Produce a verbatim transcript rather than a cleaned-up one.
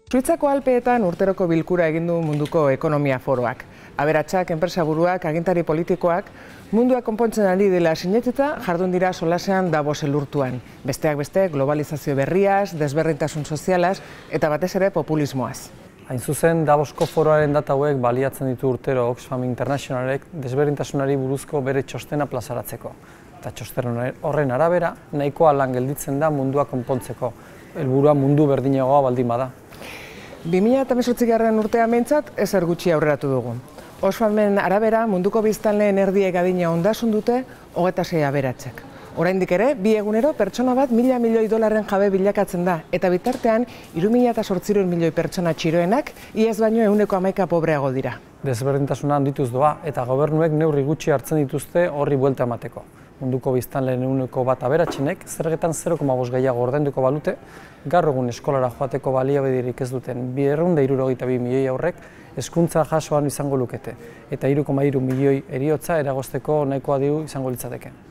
Suitzako Alpeetan urteroko bilkura egin du munduko ekonomia foroak. Aberatsak, enpresaburuak, agintari politikoak, mundua konpontzen ari dela sineteta jardun dira solasean Davos elurtuan. Besteak beste, globalizazio berriaz, desberdintasun sozialaz eta batez ere populismoaz. Hain zuzen, Davosko foroaren data hauek baliatzen ditu urtero Oxfam Internationalek desberdintasunari buruzko bere txostena plazaratzeko. Eta txosten horren arabera, nahikoa lan gelditzen da mundua konpontzeko. Helburua mundu berdinagoa baldin bada. bi mila hemezortzigarren urtean behintzat ezer gutxi aurreratu dugu. Oxfamen arabera munduko biztanleen erdiek adina ondasun dute hogeita sei aberatsak. Oraindik ere, bi egunero pertsona bat mila milioi dolarren jabe bilakatzen da, eta bitartean hiru mila zortziehun milioi pertsona txiroenak iaz baino ehuneko hamaika pobreago dira. Desberdintasuna handituz doa eta gobernuek neurri gutxi hartzen dituzte horri buelta emateko. Munduko biztanleen ehuneko bat aberatsenek zergetan zero koma bost gehiago ordainduko balute, gaur egun eskolara joateko baliabiderik ez duten berrehun eta hirurogeita bi milioi haurrek hezkuntza jasoan izango lukete eta hiru koma hiru milioi heriotza eragozteko nahikoa diru izango litzateke.